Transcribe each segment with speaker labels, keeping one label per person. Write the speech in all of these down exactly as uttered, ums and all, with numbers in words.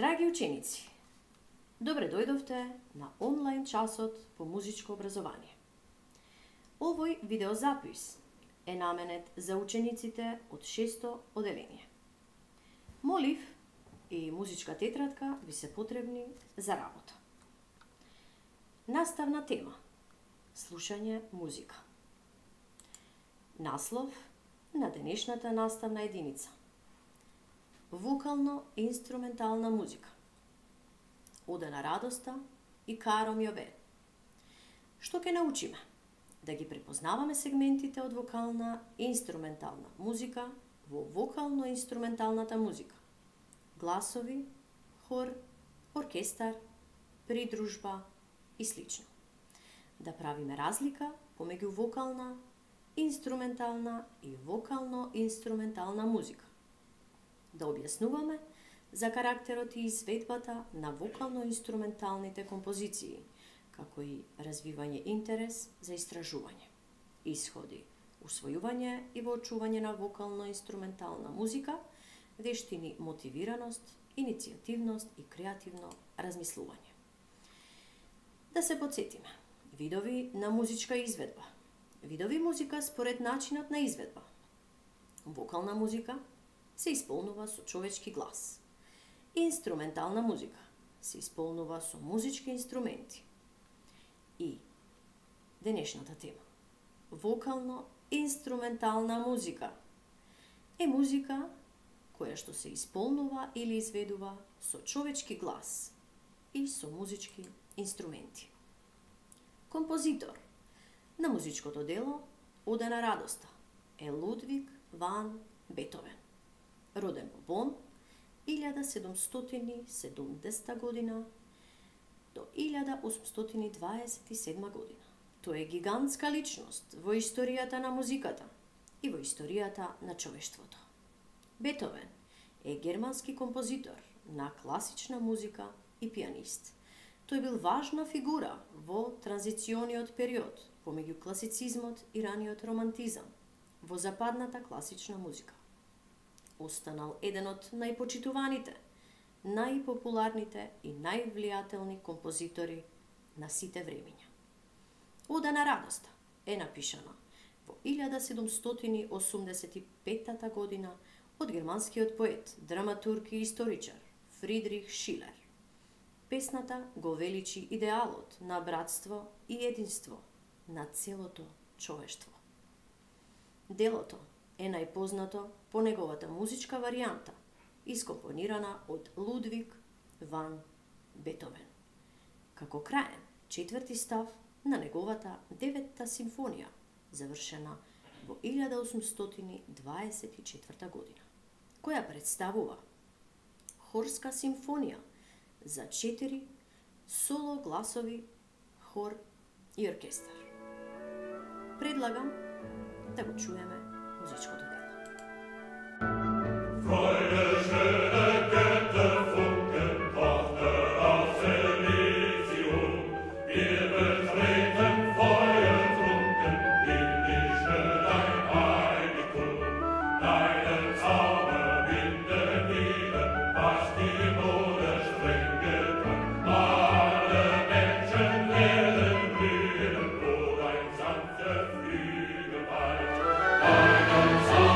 Speaker 1: Драги ученици, добре дојдовте на онлайн часот по музичко образование. Овој видеозапис е наменет за учениците од шесто оделение. Молив и музичка тетрадка ви се потребни за работа. Наставна тема: слушање музика. Наслов на денешната наставна единица: вокално-инструментална музика. Ода на радоста и Каро Мјове. Што ќе научиме? Да ги препознаваме сегментите од вокална и инструментална музика во вокално-инструменталната музика. Гласови, хор, оркестар, придружба и слично. Да правиме разлика помеѓу вокална, инструментална и вокално-инструментална музика. Да објаснуваме за карактерот и изведбата на вокално-инструменталните композиции, како и развивање интерес за истражување, исходи, усвојување и воочување на вокално-инструментална музика, вештини мотивираност, иницијативност и креативно размислување. Да се подсетиме: видови на музичка изведба. Видови музика според начинот на изведба. Вокална музика се исполнува со човечки глас. Инструментална музика се исполнува со музички инструменти. И денешната тема: вокално-инструментална музика е музика која што се исполнува или изведува со човечки глас и со музички инструменти. Композитор на музичкото дело Ода на радоста е Лудвиг ван Бетовен, роден во Бон илјада седумстотини и седумдесета година до илјада осумстотини и дваесет и седма година. Тој е гигантска личност во историјата на музиката и во историјата на човештвото. Бетовен е германски композитор на класична музика и пианист. Тој бил важна фигура во транзициониот период помеѓу класицизмот и раниот романтизам во западната класична музика. Останал еден од најпочитуваните, најпопуларните и највлијателни композитори на сите времиња. Ода на радоста е напишана во илјада седумстотини и осумдесет и петта година од германскиот поет, драматург и историчар Фридрих Шилер. Песната го величи идеалот на братство и единство на целото човештво. Делото е најпознато по неговата музичка варијанта, искомпонирана од Лудвиг ван Бетовен, како краен четврти став на неговата деветта симфонија, завршена во илјада осумстотини дваесет и четврта година, која представува хорска симфонија за четири соло гласови, хор и оркестар. Предлагам да го чуеме музичкото дело.
Speaker 2: Deinen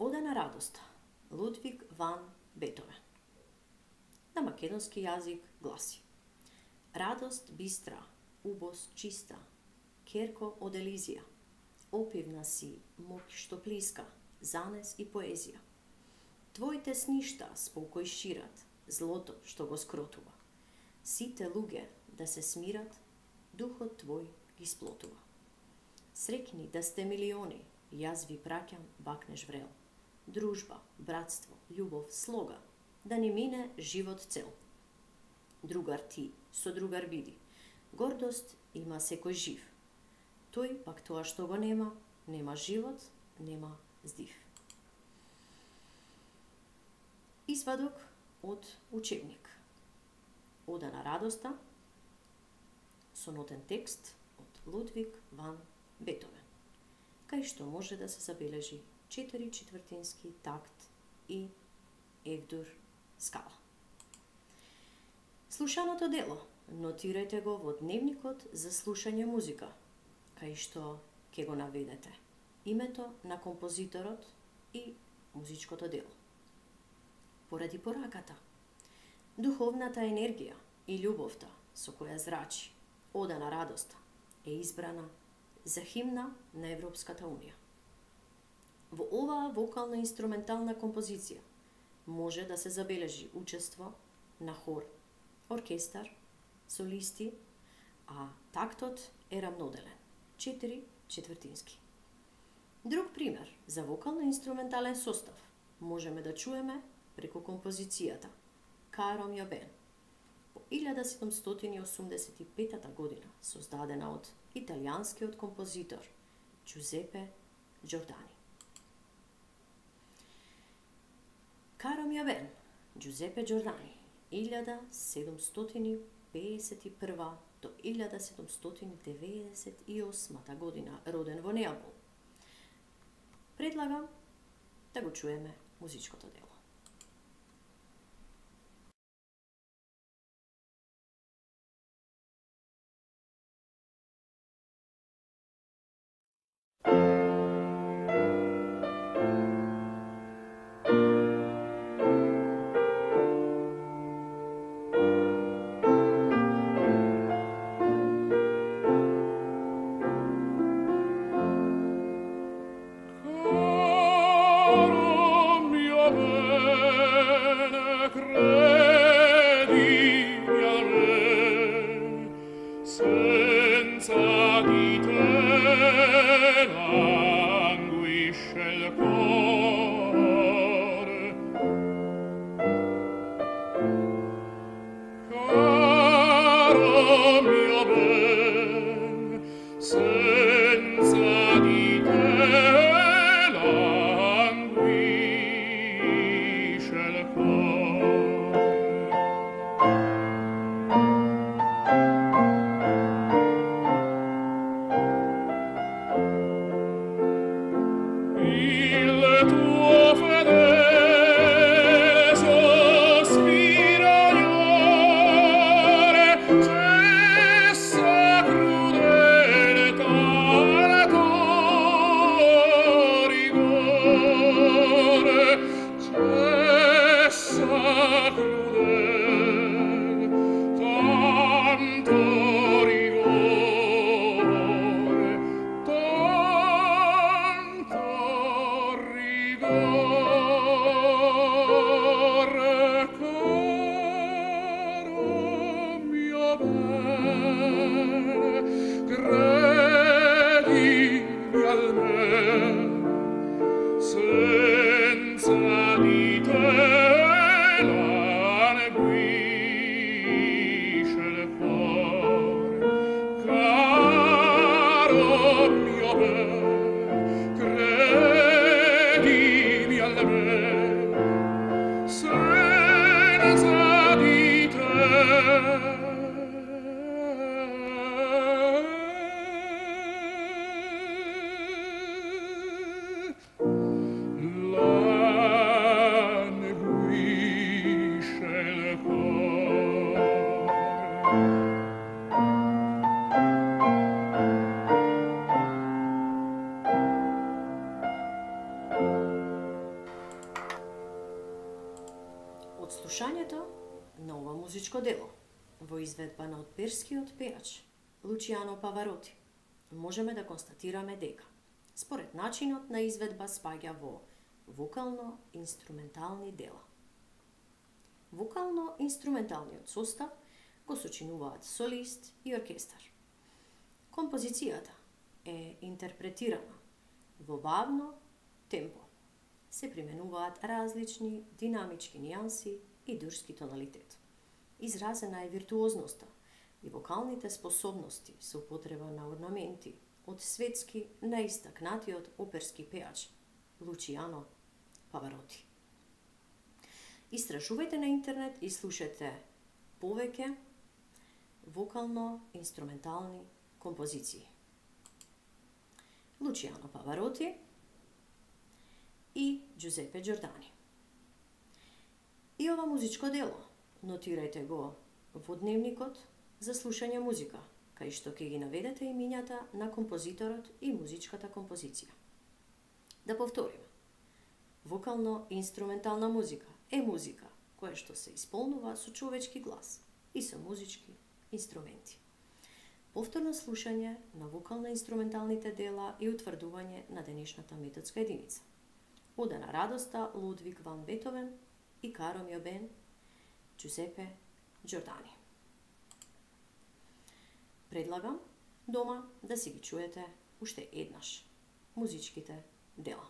Speaker 1: Ода на радоста, Лудвиг ван Бетовен. На македонски јазик гласи: радост бистра, убост чиста, керко од Елизија, опивна си моќ што плиска, занес и поезија. Твоите сништа спокој шират, злото што го скротува. Сите луѓе да се смират, духот твој ги сплотува. Срекни да сте милиони, јас ви праќам бакнеш врел. Дружба, братство, љубов, слога, да ни мине живот цел. Другар ти, со другар биди, гордост има секој жив. Тој пак тоа што го нема, нема живот, нема здив. Извадок од учебник. Ода на радоста, сонотен текст од Лудвиг ван Бетовен, кај што може да се забележи четири четвртински такт и F-дур скала. Слушаното дело нотирајте го во дневникот за слушање музика, кај што ќе го наведете името на композиторот и музичкото дело. Поради пораката, духовната енергија и љубовта со која зрачи Ода на радоста е избрана за химна на Европската унија. Во оваа вокално-инструментална композиција може да се забележи учество на хор, оркестар, солисти, а тактот е рамноделен, четири четвртински. Друг пример за вокално-инструментален состав можеме да чуеме преку композицијата Каро мио бен, по илјада седумстотини и осумдесет и пета година, создадена од италијанскиот композитор Џузепе Џордани. Каро мио бен, Џузепе Џордани, илјада седумстотини пеесет и прва до илјада седумстотини деветдесет и осма година, роден во Неапол. Предлагам да го чуеме музичкото дело. слушањето на ова музичко дело во изведба на перскиот пејач Лучиано Павароти можеме да констатираме дека според начинот на изведба спаѓа во вокално-инструментални дела. Вокално-инструменталниот состав го сочинуваат солист и оркестар. Композицијата е интерпретирана во бавно темпо. Се применуваат различни динамички нијанси и дурски тоналитет. Изразена е виртуозноста и вокалните способности со употреба на орнаменти од светски наистакнатиот оперски пејач Лучиано Павароти. Истражувајте на интернет и слушате повеќе вокално-инструментални композиции. Лучиано Павароти и Джузепе Џордани. И ова музичко дело нотирајте го во дневникот за слушање музика, кај што ќе ги наведете имињата на композиторот и музичката композиција. Да повториме. Вокално-инструментална музика е музика која што се исполнува со човечки глас и со музички инструменти. Повторно слушање на вокално-инструменталните дела и утврдување на денешната методска единица. Ода на радоста Лудвиг ван Бетовен и Каро мио бен Џузепе Џордани. Предлагам дома да си ги чуете уште еднаш музичките дела.